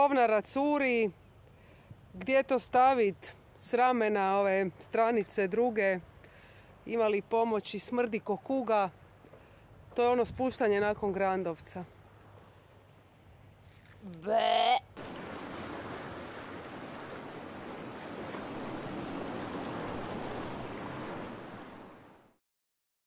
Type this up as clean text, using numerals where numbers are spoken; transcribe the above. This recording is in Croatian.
govnara curi. Gdje to stavit? S ramena ove stranice druge. Imali pomoći, smrdi ko kuga. To je ono spuštanje nakon Grandovca. Be.